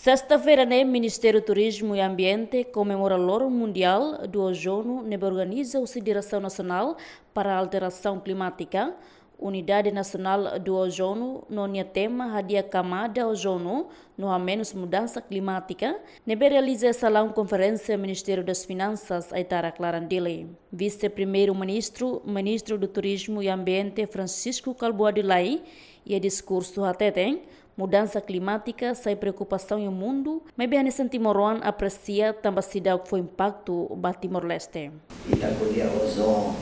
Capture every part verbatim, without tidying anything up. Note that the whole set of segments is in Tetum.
Sesta-feira ne'e, Ministériu Turizmu i Ambiente komemora Loron Mundiál do Ozono ne'ebé organiza husi Diresaun Nasionál para Alterasaun Klimátika, Unidade Nasionál do Ozono, no nia tema Hadi'a Kamada Ozono no Hamenus Mudansa Klimátika, ne'ebé realiza iha salaun konferénsia Ministériu das Finansas, Aitarak, laran Dili. Vise-Primeiru-Ministru, Ministru do Turizmu i Ambiente, Francisco Kalbuadi Lay, iha diskursu hateten, mudansa klimátika sai preokupasaun iha mundu, maibé hanesan timoroan apresia tanba seidauk fó impaktu ba Timor-Leste. Ita ko'alia ozono,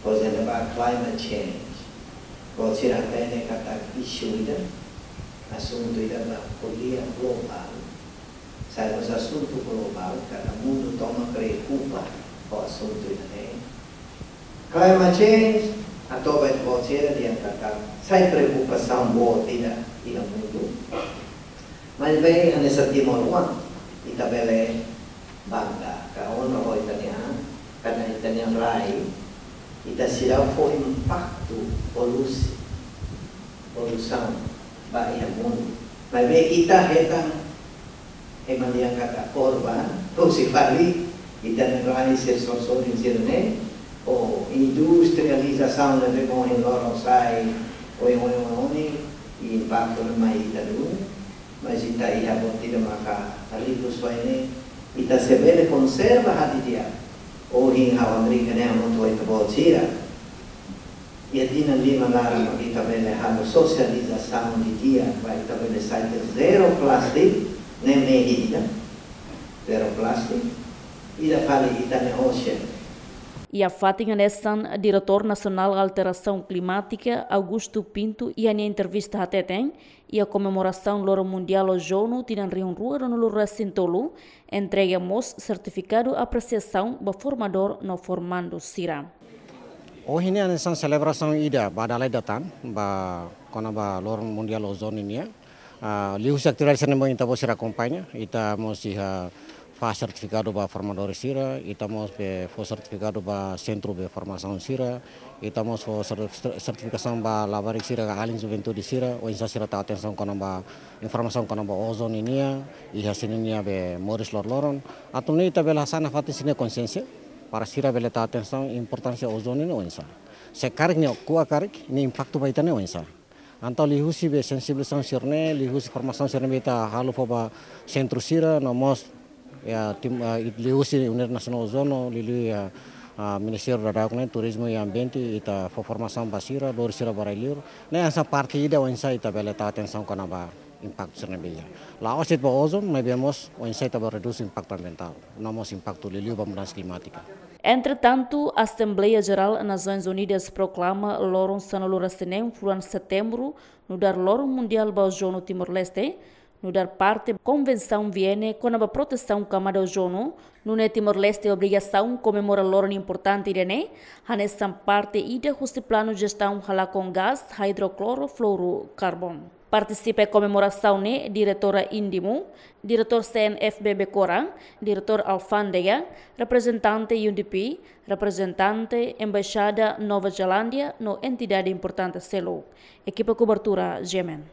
por ezemplu, ba climate change. Buat sira hatene katak isu ida, asuntu ida ba ko'alia globál. Sai mós asuntu globál, kada mundu tomak preokupa ho asuntu ida-ne'e. Climate change, atu ba ita-boot sira dehan katak sai preokupasaun boot ida iha mundu. Maibé hanesan timoroan, ita bele bangga ka onra ho ita-nia an, karena ita-nia rai, ita seidauk fó impaktu polusi, poluisaun ba iha mundu. Maibé ita hetan, ema dehan katak korban, husi fali, ita-nia rai sira sorin sira-ne'e, ou industrializasaun ne'ebé mohin loron sai, oioin, oioin, i impaktu ne'e mai ita duni. Mas ita iha buat ida maka riku soe ne'e, ita sei bele konserva hadi'a. Ohin ha'u hamriik ne'e hamutuk ho ita-boot sira. Iha tinan lima laran mak ita bele halo sosializasaun didi'ak, ba ita bele sai tiha zero plastik, ne'e mehi ida. Zero plastik, ida fali ita-nia ocean. Iha fatin hanesan, Diretór Nasionál Alterasaun Klimátika, Augusto Pinto, iha nia entrevista hateten, iha komemorasaun Loron Mundiál Ozono tinan rihun rua ruanulu resin tolu, entrega mós sertifikadu apresiasaun ba formadór no formandu sira. Ohin ne'e hanesan selebrasaun ida ba dala ida tan, ba kona-ba Loron Mundiál Ozono nian. Ah, liuhusi atividade sira-ne'ebé ita-boot sira akompaña, ita mós iha fó sertifikadu ba formadór sira, ita mós be fó sertifikadu ba sentru be formasaun sira, ita mós fó ser-, ser-, sertifikasaun ba labarik sira ka alin juventude sira, oinsá sira tau atensaun kona-ba informasaun kona-ba ozono nian, iha sira-nia be moris loroloron. Atu nune'e ita bele hasa'e nafatin sira-nia konxiénsia, para sira bele tau atensaun importánsia ozono nian oinsá. Se karik nia ko'a karik, nia impaktu ba ita-nia oinsá. Entaun liuhusi be sensibilizasaun sira-ne'e, liuhusi formasaun sira-ne'ebé ita halo fó ba sentru sira, no mós, ya, tim, ah, liuhusi Unidade Nasionál Ozono, liuliu, ya, ah, Ministériu daudaun ne'e, Turizmu i Ambiente, ita fó formasaun ba sira, lori sira ba rai-liur. Ne'e hanesan parte ida oinsá ita bele tau atensaun kona-ba impaktu sira-ne'ebé iha. La'ós de'it ba ozono, maibé mós oinsá ita bele redús impaktu ambientál, no mós impaktu liuliu ba mudansa klimátika. Entretantu, Asembleia Jerál Nasoins Unidas proklama loron sanulu resin neen fulan Setembru nu'udar Loron Mundiál ba Ozono Timor-Leste, nu'udar parte Konvensaun Viena kona-ba protesaun kamada ozono, nune'e Timor-Leste obrigasaun komemora loron importante ida-ne'e, hanesan parte ida husi planu jestaun halakon gás hidroklorofluorokarbon. Partisipa iha komemorasaun ne'e Diretora INDIMU, Diretór C N F B Becora, Diretór Alfándega, reprezentante U N D P, reprezentante Embaixada Nova Zelándia no entidade importante seluk. Ekipa kobertura, G M N.